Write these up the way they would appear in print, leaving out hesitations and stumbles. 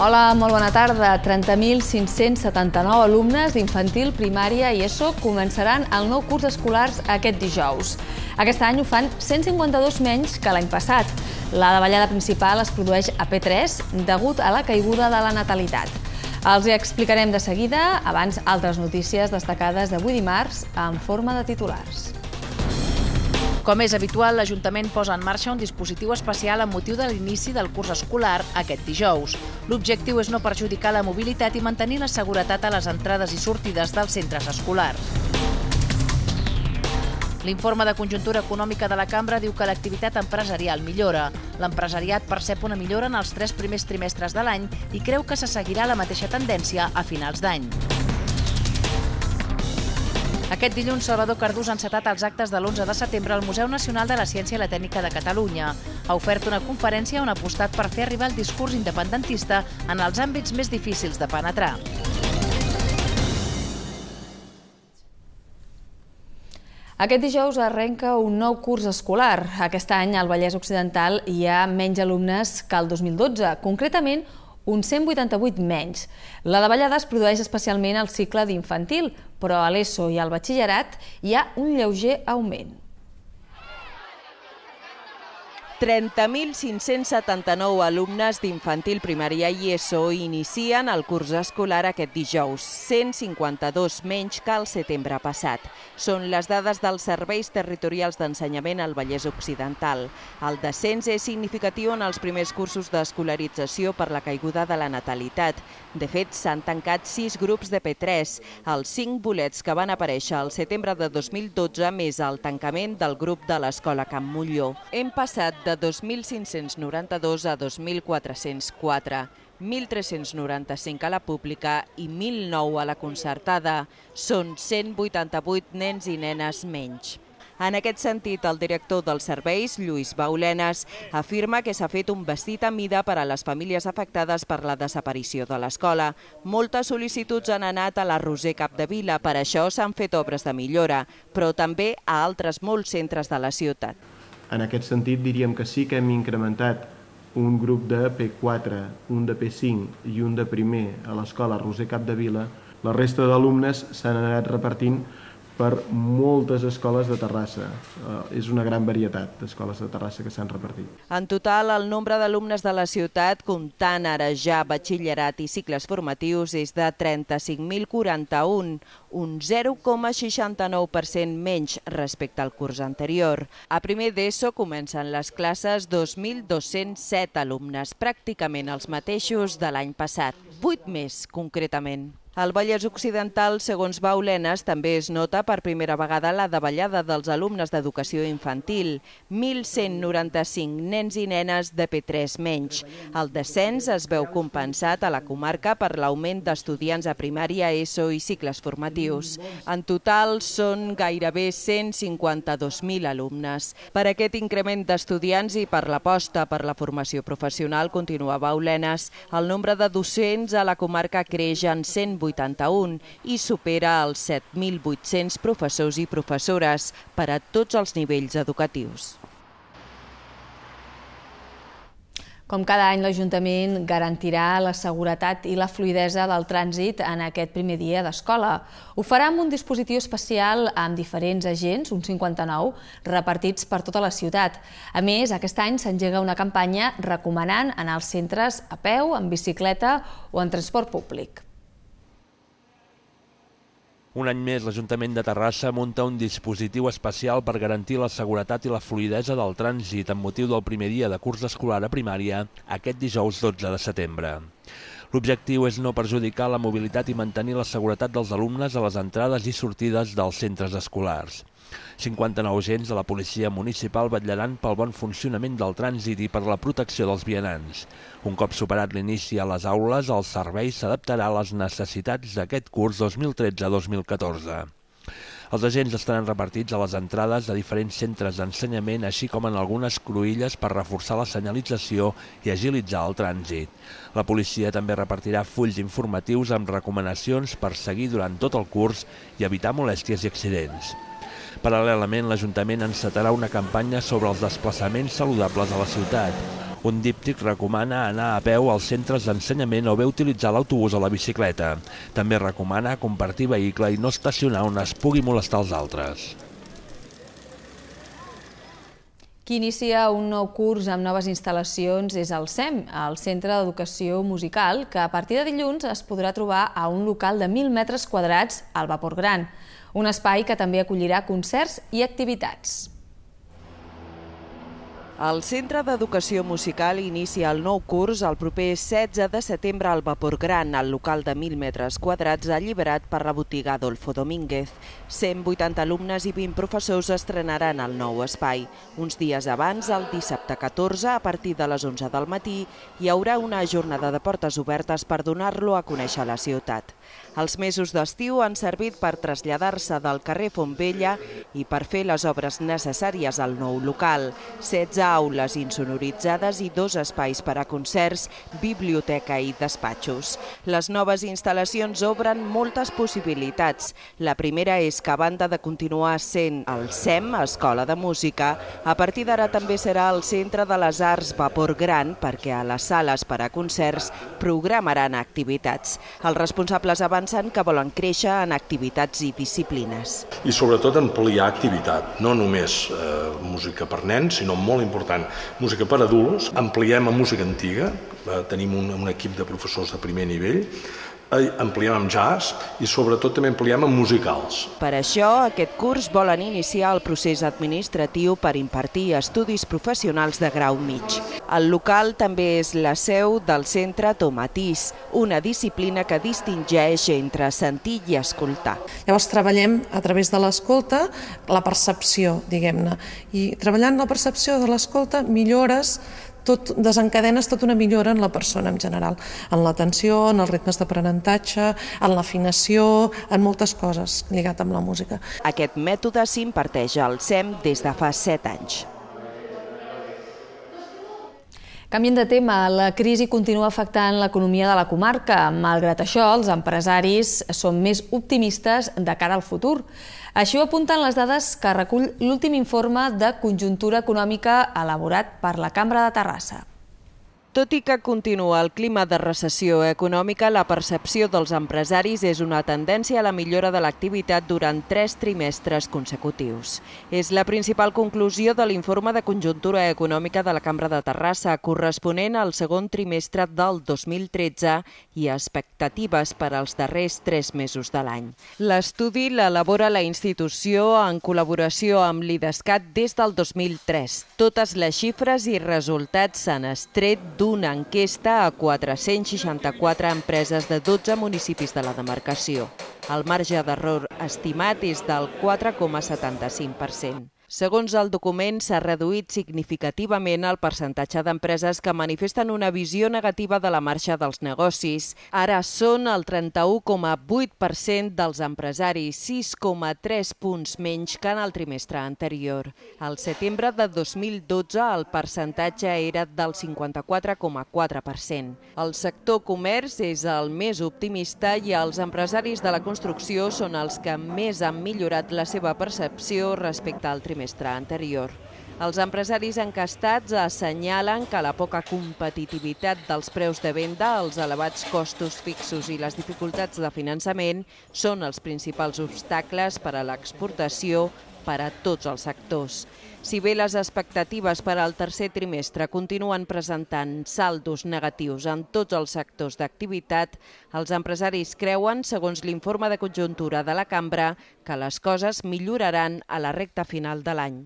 Hola, molt bona tarda. 30.579 alumnes d'infantil, primària i ESO començaran el nou curs escolar aquest dijous. Aquest any ho fan 152 menys que l'any passat. La davallada principal es produeix a P3 degut a la caiguda de la natalitat. Els hi explicarem de seguida, abans altres notícies destacades d'avui dimarts en forma de titulars. Com és habitual, l'Ajuntament posa en marxa un dispositiu especial amb motiu de l'inici del curs escolar aquest dijous. L'objectiu és no perjudicar la mobilitat i mantenir la seguretat a les entrades i sortides dels centres escolars. L'informe de conjuntura econòmica de la Cambra diu que l'activitat empresarial millora. L'empresariat percep una millora en els 3 primers trimestres de l'any i creu que se seguirà la mateixa tendència a finals d'any. Aquest dilluns, Salvador Cardús ha encetat els actes de l'11 de setembre al Museu Nacional de la Ciència i la Tècnica de Catalunya. Ha ofert una conferència on ha apostat per fer arribar el discurs independentista en els àmbits més difícils de penetrar. Aquest dijous arrenca un nou curs escolar. Aquest any al Vallès Occidental hi ha menys alumnes que el 2012, concretament uns 188 menys. La davallada es produeix especialment al cicle d'infantil, però a l'ESO i al batxillerat hi ha un lleuger augment. 30.579 alumnes d'infantil, primària i ESO inicien el curs escolar aquest dijous, 152 menys que el setembre passat. Són les dades dels serveis territorials d'ensenyament al Vallès Occidental. El descens és significatiu en els primers cursos d'escolarització per la caiguda de la natalitat. De fet, s'han tancat 6 grups de P3, els 5 bolets que van aparèixer al setembre de 2012 més el tancament del grup de l'Escola Can Molló. Hem passat de 2.592 a 2.404, 1.395 a la pública i 1.009 a la concertada. Són 188 nens i nenes menys. En aquest sentit, el director dels serveis, Lluís Baulenes, afirma que s'ha fet un vestit a mida per a les famílies afectades per la desaparició de l'escola. Moltes sol·licituds han anat a la Roser Capdevila, per això s'han fet obres de millora, però també a altres molts centres de la ciutat. En aquest sentit, diríem que sí que hem incrementat un grup de P4, un de P5 i un de primer a l'escola Roser Capdevila. La resta d'alumnes s'han anat repartint per moltes escoles de Terrassa. És una gran varietat d'escoles de Terrassa que s'han repartit. En total, el nombre d'alumnes de la ciutat, comptant ara ja batxillerat i cicles formatius, és de 35.041, un 0,69% menys respecte al curs anterior. A primer d'ESO comencen les classes 2.207 alumnes, pràcticament els mateixos de l'any passat, 8 més concretament. Al Vallès Occidental, segons Baulenes, també es nota per primera vegada la davallada dels alumnes d'educació infantil, 1.195 nens i nenes de P3 menys. El descens es veu compensat a la comarca per l'augment d'estudiants a primària, ESO i cicles formatius. En total són gairebé 152.000 alumnes. Per aquest increment d'estudiants i per l'aposta per la formació professional, continua Baulenes, el nombre de docents a la comarca creix en 181 i supera els 7.800 professors i professores per a tots els nivells educatius. Com cada any, l'Ajuntament garantirà la seguretat i la fluïdesa del trànsit en aquest primer dia d'escola. Ho farà amb un dispositiu especial amb diferents agents, uns 59, repartits per tota la ciutat. A més, aquest any s'engega una campanya recomanant anar als centres a peu, en bicicleta o en transport públic. Un any més, l'Ajuntament de Terrassa munta un dispositiu especial per garantir la seguretat i la fluïdesa del trànsit amb motiu del primer dia de curs escolar a primària aquest dijous 12 de setembre. L'objectiu és no perjudicar la mobilitat i mantenir la seguretat dels alumnes a les entrades i sortides dels centres escolars. 59 agents de la policia municipal vetllaran pel bon funcionament del trànsit i per la protecció dels vianants. Un cop superat l'inici a les aules, el servei s'adaptarà a les necessitats d'aquest curs 2013-2014. Els agents estaran repartits a les entrades de diferents centres d'ensenyament, així com en algunes cruïlles per reforçar la senyalització i agilitzar el trànsit. La policia també repartirà fulls informatius amb recomanacions per seguir durant tot el curs i evitar molèsties i accidents. Paral·lelament, l'Ajuntament encetarà una campanya sobre els desplaçaments saludables a la ciutat. Un díptic recomana anar a peu als centres d'ensenyament o bé utilitzar l'autobús o la bicicleta. També recomana compartir vehicle i no estacionar on es pugui molestar els altres. Qui inicia un nou curs amb noves instal·lacions és el CEM, el Centre d'Educació Musical, que a partir de dilluns es podrà trobar a un local de 1.000 metres quadrats al Vapor Gran, un espai que també acollirà concerts i activitats. El Centre d'Educació Musical inicia el nou curs el proper 16 de setembre al Vapor Gran, al local de 1.000 metres quadrats alliberat per la botiga Adolfo Domínguez. 180 alumnes i 20 professors estrenaran el nou espai. Uns dies abans, el dissabte 14, a partir de les 11 del matí, hi haurà una jornada de portes obertes per donar-lo a conèixer a la ciutat. Els mesos d'estiu han servit per traslladar-se del carrer Fontvella i per fer les obres necessàries al nou local. 16 aules insonoritzades i 2 espais per a concerts, biblioteca i despatxos. Les noves instal·lacions obren moltes possibilitats. La primera és que, a banda de continuar sent el CEM, Escola de Música, a partir d'ara també serà el Centre de les Arts Vapor Gran, perquè a les sales per a concerts programaran activitats. Els responsables avancen que volen créixer en activitats i disciplines. I sobretot ampliar activitat, no només música per nens, sinó molt important, música per adults. Ampliem a música antiga, tenim un equip de professors de primer nivell, ampliem amb jazz i sobretot també ampliem amb musicals. Per això, aquest curs volen iniciar el procés administratiu per impartir estudis professionals de grau mig. El local també és la seu del Centre Tomatís, una disciplina que distingeix entre sentir i escoltar. Llavors treballem a través de l'escolta la percepció, diguem-ne, i treballant la percepció de l'escolta millores desencadenes tota una millora en la persona en general, en l'atenció, en els ritmes d'aprenentatge, en l'afinació, en moltes coses lligat amb la música. Aquest mètode s'imparteix al CEM des de fa 7 anys. Canviem de tema, la crisi continua afectant l'economia de la comarca. Malgrat això, els empresaris són més optimistes de cara al futur. Així ho apunten les dades que recull l'últim informe de conjuntura econòmica elaborat per la Cambra de Terrassa. Tot i que continua el clima de recessió econòmica, la percepció dels empresaris és una tendència a la millora de l'activitat durant 3 trimestres consecutius. És la principal conclusió de l'informe de conjuntura econòmica de la Cambra de Terrassa, corresponent al segon trimestre del 2013 i expectatives per als darrers 3 mesos de l'any. L'estudi l'elabora la institució en col·laboració amb l'IDESCAT des del 2003. Totes les xifres i resultats s'han extret d'una enquesta a 464 empreses de 12 municipis de la demarcació. El marge d'error estimat és del 4,75%. Segons el document, s'ha reduït significativament el percentatge d'empreses que manifesten una visió negativa de la marxa dels negocis. Ara són el 31,8% dels empresaris, 6,3 punts menys que en el trimestre anterior. Al setembre de 2012 el percentatge era del 54,4%. El sector comerç és el més optimista i els empresaris de la construcció són els que més han millorat la seva percepció respecte al trimestre anterior. Els empresaris encastats assenyalen que la poca competitivitat dels preus de venda, els elevats costos fixos i les dificultats de finançament són els principals obstacles per a l'exportació per a tots els sectors. Si bé les expectatives per al tercer trimestre continuen presentant saldos negatius en tots els sectors d'activitat, els empresaris creuen, segons l'informe de conjuntura de la Cambra, que les coses milloraran a la recta final de l'any.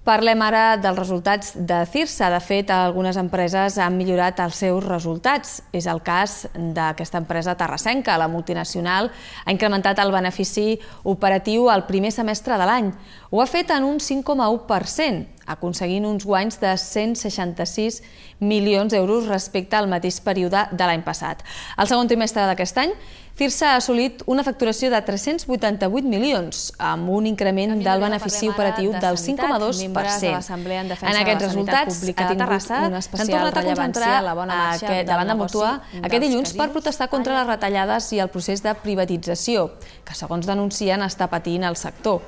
Parlem ara dels resultats de Cirsa. De fet, algunes empreses han millorat els seus resultats. És el cas d'aquesta empresa terrassenca. La multinacional ha incrementat el benefici operatiu al primer semestre de l'any. Ho ha fet en un 5,1%, aconseguint uns guanys de 166 milions d'euros respecte al mateix període de l'any passat. Al segon trimestre d'aquest any, Cirsa ha assolit una facturació de 388 milions, amb un increment del benefici operatiu del 5,2%. En aquests resultats ha tingut una especial rellevància davant de Mútua aquest dilluns per protestar contra les retallades i el procés de privatització, que segons denuncien està patint el sector.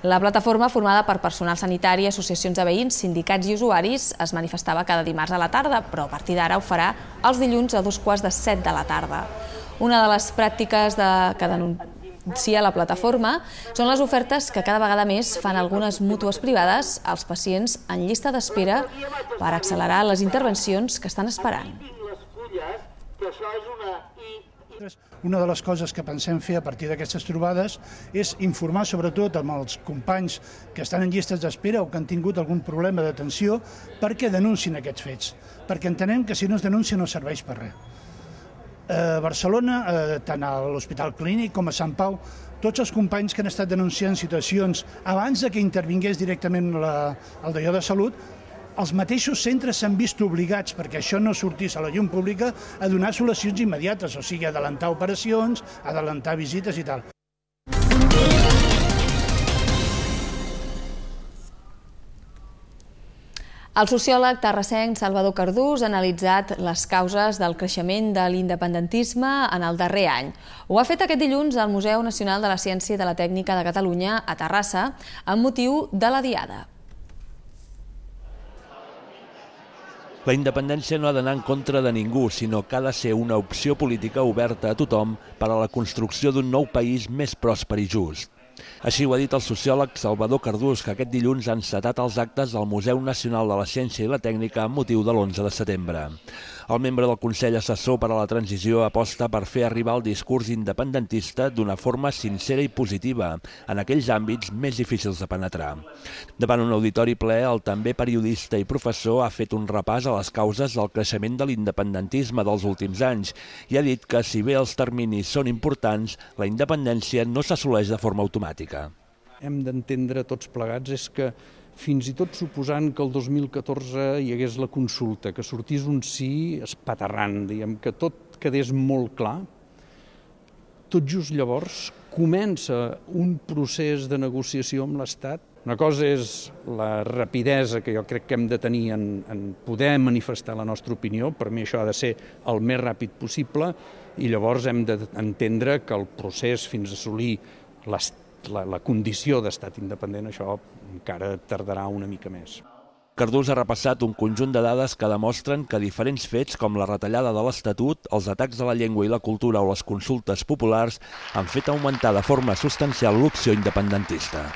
La plataforma, formada per personal sanitari, associacions de veïns, sindicats i usuaris, es manifestava cada dimarts a la tarda, però a partir d'ara ho farà els dilluns a 7:15 de la tarda. Una de les pràctiques que denuncia la plataforma són les ofertes que cada vegada més fan algunes mútues privades als pacients en llista d'espera per accelerar les intervencions que estan esperant. Una de les coses que pensem fer a partir d'aquestes trobades és informar sobretot amb els companys que estan en llistes d'espera o que han tingut algun problema d'atenció perquè denuncin aquests fets, perquè entenem que si no es denuncia no serveix per res. A Barcelona, tant a l'Hospital Clínic com a Sant Pau, tots els companys que han estat denunciant situacions abans de que intervingués directament el d'allò de salut, els mateixos centres s'han vist obligats, perquè això no sortís a la llum pública, a donar solucions immediates, o sigui, adelantar operacions, adelantar visites i tal. El sociòleg terrassenc Salvador Cardús ha analitzat les causes del creixement de l'independentisme en el darrer any. Ho ha fet aquest dilluns al Museu Nacional de la Ciència i de la Tècnica de Catalunya, a Terrassa, amb motiu de la Diada. La independència no ha d'anar en contra de ningú, sinó que ha de ser una opció política oberta a tothom per a la construcció d'un nou país més pròsper i just. Així ho ha dit el sociòleg Salvador Cardús, que aquest dilluns ha encetat els actes del Museu Nacional de la Ciència i la Tècnica amb motiu de l'11 de setembre. El membre del Consell Assessor per a la Transició aposta per fer arribar el discurs independentista d'una forma sincera i positiva en aquells àmbits més difícils de penetrar. Davant un auditori ple, el també periodista i professor ha fet un repàs a les causes del creixement de l'independentisme dels últims anys i ha dit que, si bé els terminis són importants, la independència no s'assoleix de forma automàtica. Hem d'entendre tots plegats és que fins i tot suposant que el 2014 hi hagués la consulta, que sortís un sí espaterrant, diguem, que tot quedés molt clar, tot just llavors comença un procés de negociació amb l'Estat. Una cosa és la rapidesa que jo crec que hem de tenir en poder manifestar la nostra opinió, per mi això ha de ser el més ràpid possible, i llavors hem d'entendre que el procés fins a assolir la condició d'estat independent, això encara tardarà una mica més. Cardús ha repassat un conjunt de dades que demostren que diferents fets, com la retallada de l'Estatut, els atacs a la llengua i la cultura o les consultes populars, han fet augmentar de forma substancial l'opció independentista.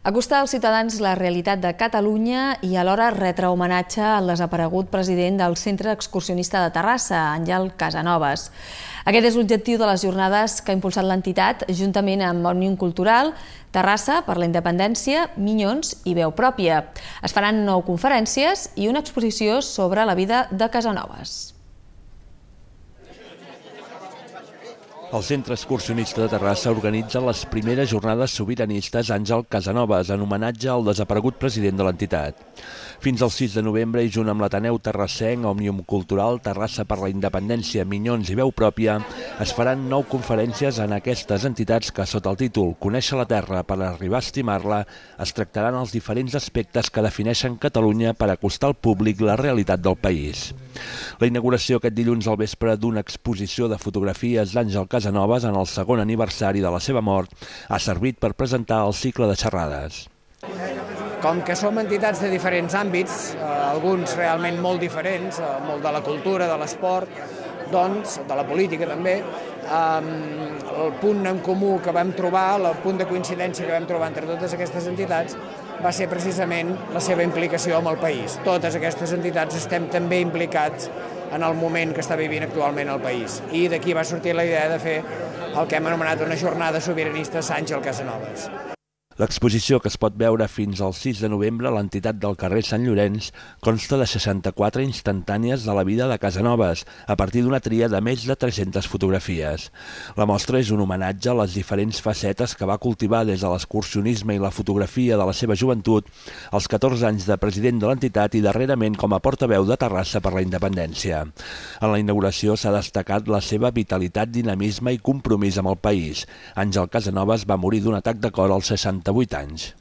Acostar als ciutadans la realitat de Catalunya i alhora retre homenatge al desaparegut president del Centre Excursionista de Terrassa, Àngel Casanovas. Aquest és l'objectiu de les jornades que ha impulsat l'entitat, juntament amb Òmnium Cultural, Terrassa per la Independència, Minyons i Veu Pròpia. Es faran 9 conferències i una exposició sobre la vida de Casanovas. El Centre Excursionista de Terrassa organitza les primeres jornades sobiranistes Àngel Casanovas en homenatge al desaparegut president de l'entitat. Fins al 6 de novembre i junt amb l'Ateneu Terrassenc, Òmnium Cultural, Terrassa per la Independència, Minyons i Veu Pròpia, es faran 9 conferències en aquestes entitats que, sota el títol Conèixer la Terra per arribar a estimar-la, es tractaran els diferents aspectes que defineixen Catalunya per acostar al públic la realitat del país. La inauguració aquest dilluns al vespre d'una exposició de fotografies d'Àngel Casanovas en el segon aniversari de la seva mort ha servit per presentar el cicle de xerrades. Com que som entitats de diferents àmbits, alguns realment molt diferents, molt de la cultura, de l'esport, doncs, de la política també, el punt en comú que vam trobar, el punt de coincidència que vam trobar entre totes aquestes entitats va ser precisament la seva implicació amb el país. Totes aquestes entitats estem també implicats en el moment que està vivint actualment el país. I d'aquí va sortir la idea de fer el que hem anomenat una jornada sobiranista Àngel Casanovas. L'exposició, que es pot veure fins al 6 de novembre a l'entitat del carrer Sant Llorenç, consta de 64 instantànies de la vida de Casanovas, a partir d'una tria de més de 300 fotografies. La mostra és un homenatge a les diferents facetes que va cultivar des de l'excursionisme i la fotografia de la seva joventut, als 14 anys de president de l'entitat i darrerament com a portaveu de Terrassa per la Independència. En la inauguració s'ha destacat la seva vitalitat, dinamisme i compromís amb el país. Àngel Casanovas va morir d'un atac de cor als 68 anys.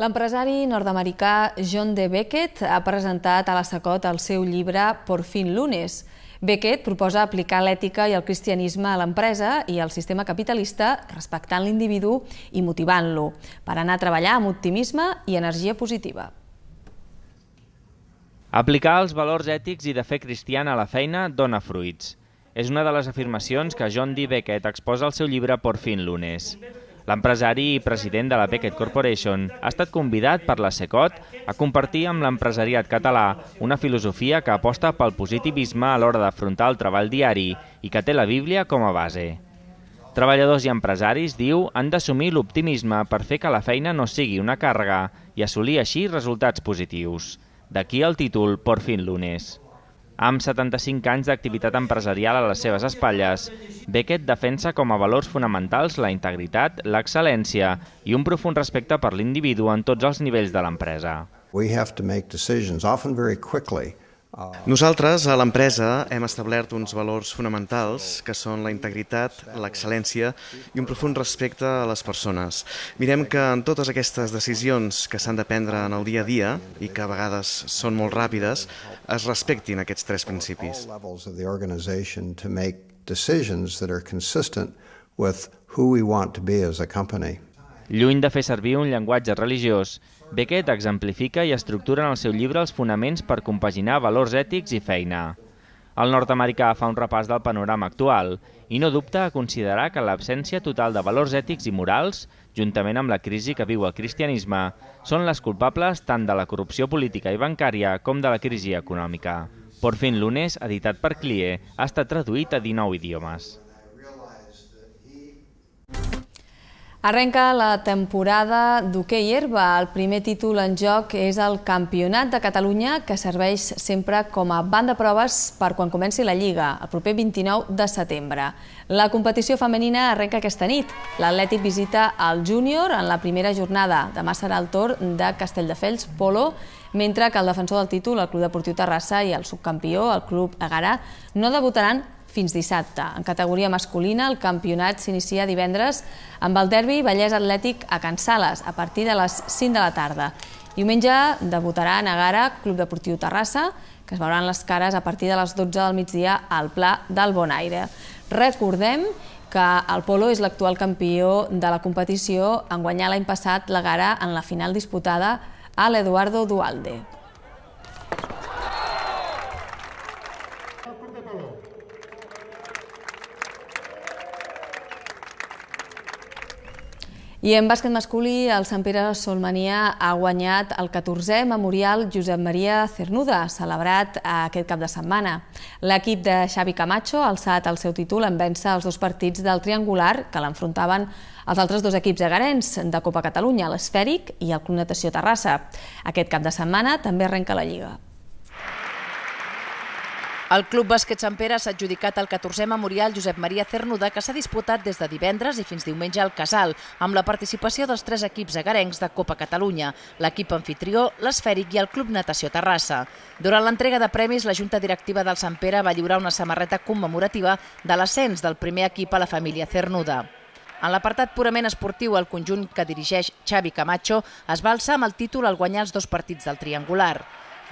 L'empresari nord-americà John D. Beckett ha presentat a la SACOT el seu llibre Por fin lunes. Beckett proposa aplicar l'ètica i el cristianisme a l'empresa i al sistema capitalista, respectant l'individu i motivant-lo, per anar a treballar amb optimisme i energia positiva. Aplicar els valors ètics i de fe cristiana a la feina dona fruits. És una de les afirmacions que John D. Beckett exposa al seu llibre Por fin lunes. L'empresari i president de la Beckett Corporation ha estat convidat per la SECOT a compartir amb l'empresariat català una filosofia que aposta pel positivisme a l'hora d'afrontar el treball diari i que té la Bíblia com a base. Treballadors i empresaris, diu, han d'assumir l'optimisme per fer que la feina no sigui una càrrega i assolir així resultats positius. D'aquí el títol Por fin lunes. Amb 75 anys d'activitat empresarial a les seves espatlles, Beckett defensa com a valors fonamentals la integritat, l'excel·lència i un profund respecte per l'individu en tots els nivells de l'empresa. Nosaltres, a l'empresa, hem establert uns valors fonamentals que són la integritat, l'excel·lència i un profund respecte a les persones. Mirem que en totes aquestes decisions que s'han de prendre en el dia a dia i que a vegades són molt ràpides, es respectin aquests tres principis. Lluny de fer servir un llenguatge religiós, Beckett exemplifica i estructura en el seu llibre els fonaments per compaginar valors ètics i feina. El nord-americà fa un repàs del panorama actual i no dubta a considerar que l'absència total de valors ètics i morals, juntament amb la crisi que viu el cristianisme, són les culpables tant de la corrupció política i bancària com de la crisi econòmica. Por fin lunes, editat per CLIE, ha estat traduït a 19 idiomes. Arrenca la temporada d'hoquei herba. El primer títol en joc és el Campionat de Catalunya, que serveix sempre com a banc de proves per quan comenci la Lliga, el proper 29 de setembre. La competició femenina arrenca aquesta nit. L'Atlètic visita el júnior en la primera jornada. Demà serà el torn de Castelldefels Polo, mentre que el defensor del títol, el Club Deportiu Terrassa, i el subcampió, el Club Egarà, no debutaran fins dissabte. En categoria masculina, el campionat s'inicia divendres amb el derbi Vallès Atlètic a Can Sales, a partir de les 5 de la tarda. Diumenge debutarà en Egarà, Club Deportiu Terrassa, que es veuran les cares a partir de les 12 del migdia al Pla del Bonaire. Recordem que el Polo és l'actual campió de la competició en guanyar l'any passat l'Egarà en la final disputada a l'Eduardo Duhalde. I en bàsquet masculí, el Sant Pere Solmania ha guanyat el 14è Memorial Josep Maria Cernuda, celebrat aquest cap de setmana. L'equip de Xavi Camacho ha alçat el seu títol en vèncer els dos partits del triangular que l'enfrontaven els altres dos equips egarens de Copa Catalunya, l'Esfèric i el Club Natació Terrassa. Aquest cap de setmana també arrenca la Lliga. El Club Bàsquet Sant Pere s'ha adjudicat el 14è Memorial Josep Maria Cernuda, que s'ha disputat des de divendres i fins diumenge al Casal, amb la participació dels tres equips egarencs de Copa Catalunya, l'equip anfitrió, l'Esfèric i el Club Natació Terrassa. Durant l'entrega de premis, la Junta Directiva del Sant Pere va lliurar una samarreta commemorativa de l'ascens del primer equip a la família Cernuda. En l'apartat purament esportiu, el conjunt que dirigeix Xavi Camacho es va alçar amb el títol al guanyar els dos partits del triangular.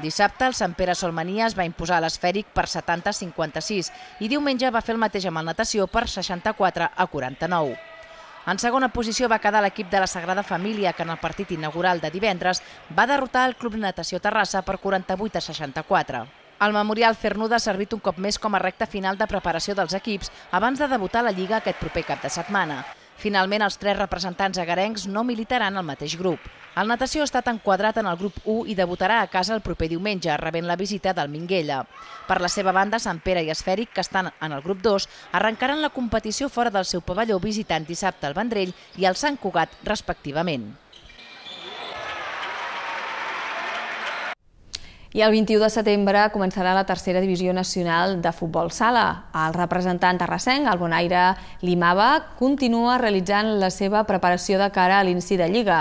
Dissabte, el Sant Pere Solmania es va imposar a l'Esfèric per 70-56 i diumenge va fer el mateix amb el Natació per 64-49. En segona posició va quedar l'equip de la Sagrada Família, que en el partit inaugural de divendres va derrotar el Club Natació Terrassa per 48-64. El Memorial Cernuda ha servit un cop més com a recta final de preparació dels equips abans de debutar a la Lliga aquest proper cap de setmana. Finalment, els tres representants egarencs no militaran al mateix grup. El Natació ha estat enquadrat en el grup 1 i debutarà a casa el proper diumenge, rebent la visita del Minguella. Per la seva banda, Sant Pere i Esfèric, que estan en el grup 2, arrencaran la competició fora del seu pavelló visitant dissabte el Vendrell i el Sant Cugat, respectivament. I el 21 de setembre començarà la tercera divisió nacional de futbol sala. El representant terrassenc, el Bonaire Limava, continua realitzant la seva preparació de cara a l'inici de Lliga.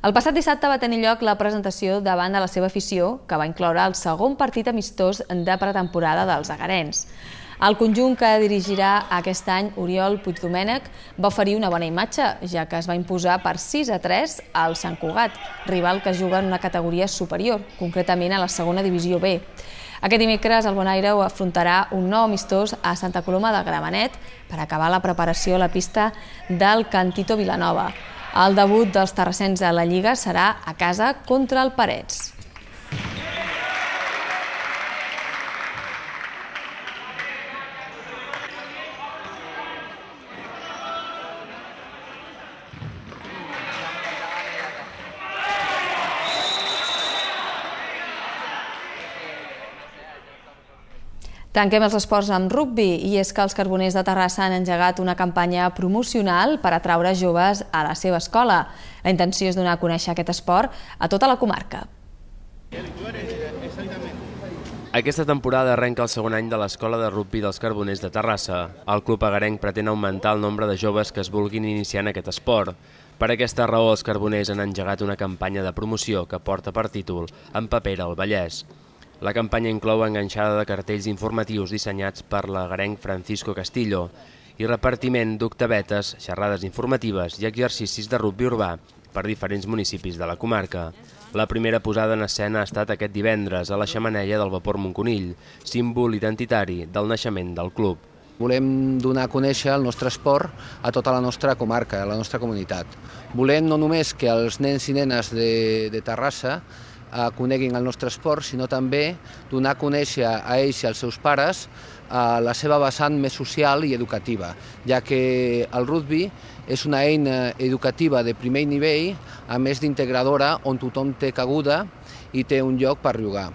El passat dissabte va tenir lloc la presentació davant de la seva afició, que va incloure el segon partit amistós de pretemporada dels egarens. El conjunt que dirigirà aquest any, Oriol Puigdomènech, va oferir una bona imatge, ja que es va imposar per 6-3 al Sant Cugat, rival que juga en una categoria superior, concretament a la segona divisió B. Aquest dimecres el Bonaire afrontarà un nou amistós a Santa Coloma de Gramenet per acabar la preparació a la pista del Cantito Vilanova. El debut dels terrassens a la Lliga serà a casa contra el Parets. Tanquem els esports amb rugbi, i és que els Carboners de Terrassa han engegat una campanya promocional per atraure joves a la seva escola. La intenció és donar a conèixer aquest esport a tota la comarca. Aquesta temporada arrenca el segon any de l'escola de rugbi dels Carboners de Terrassa. El club agarenc pretén augmentar el nombre de joves que es vulguin iniciar en aquest esport. Per aquesta raó, els Carboners han engegat una campanya de promoció que porta per títol Empapera el Vallès. La campanya inclou enganxada de cartells informatius dissenyats per l'agarenc Francisco Castillo i repartiment d'octavetes, xerrades informatives i exercicis de rugbi urbà per diferents municipis de la comarca. La primera posada en escena ha estat aquest divendres a la xemeneia del Vapor Montconill, símbol identitari del naixement del club. Volem donar a conèixer el nostre esport a tota la nostra comarca, a la nostra comunitat. Volem no només que els nens i nenes de Terrassa coneguin el nostre esport, sinó també donar a conèixer a ells i als seus pares la seva vessant més social i educativa, ja que el rugbi és una eina educativa de primer nivell, a més d'integradora, on tothom té cabuda i té un lloc per jugar.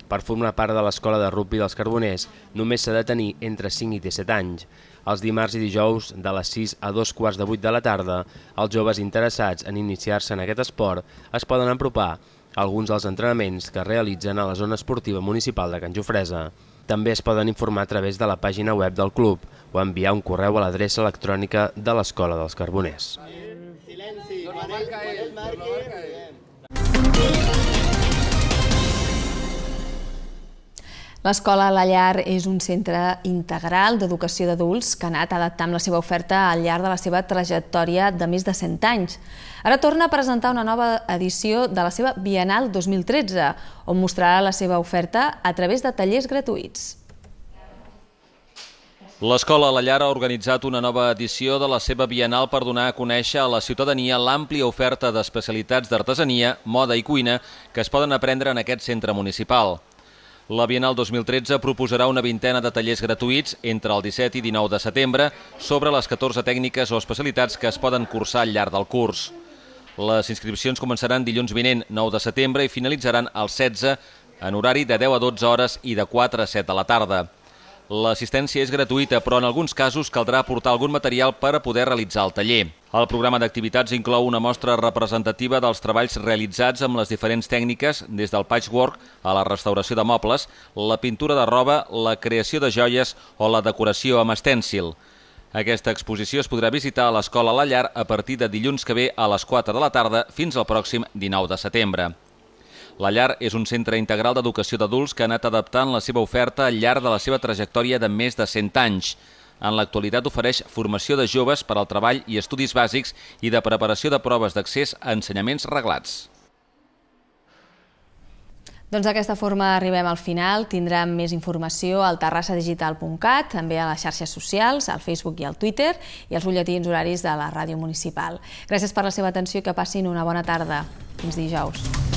Per formar part de l'escola de rugbi dels Carboners, només s'ha de tenir entre 5 i 17 anys. Els dimarts i dijous, de les 6 a 2:15 de la tarda, els joves interessats en iniciar-se en aquest esport es poden apropar a alguns dels entrenaments que realitzen a la zona esportiva municipal de Can Jofresa. També es poden informar a través de la pàgina web del club o enviar un correu a l'adreça electrònica de l'Escola dels Carboners. L'Escola La Llar és un centre integral d'educació d'adults que ha anat adaptant la seva oferta al llarg de la seva trajectòria de més de 100 anys. Ara torna a presentar una nova edició de la seva Bienal 2013, on mostrarà la seva oferta a través de tallers gratuïts. L'Escola La Llar ha organitzat una nova edició de la seva Bienal per donar a conèixer a la ciutadania l'àmplia oferta d'especialitats d'artesania, moda i cuina que es poden aprendre en aquest centre municipal. La Bienal 2013 proposarà una vintena de tallers gratuïts entre el 17 i 19 de setembre sobre les 14 tècniques o especialitats que es poden cursar al llarg del curs. Les inscripcions començaran dilluns vinent, 9 de setembre, i finalitzaran el 16 en horari de 10 a 12 hores i de 4 a 7 de la tarda. L'assistència és gratuïta, però en alguns casos caldrà aportar algun material per a poder realitzar el taller. El programa d'activitats inclou una mostra representativa dels treballs realitzats amb les diferents tècniques, des del patchwork a la restauració de mobles, la pintura de roba, la creació de joies o la decoració amb estèncil. Aquesta exposició es podrà visitar a l'Escola La Llar a partir de dilluns que ve a les 4 de la tarda fins al pròxim 19 de setembre. La Llar és un centre integral d'educació d'adults que ha anat adaptant la seva oferta al llarg de la seva trajectòria de més de 100 anys. En l'actualitat ofereix formació de joves per al treball i estudis bàsics i de preparació de proves d'accés a ensenyaments reglats. Doncs d'aquesta forma arribem al final. Tindrem més informació al terrassadigital.cat, també a les xarxes socials, al Facebook i al Twitter, i als butlletins horaris de la ràdio municipal. Gràcies per la seva atenció i que passin una bona tarda. Fins dijous.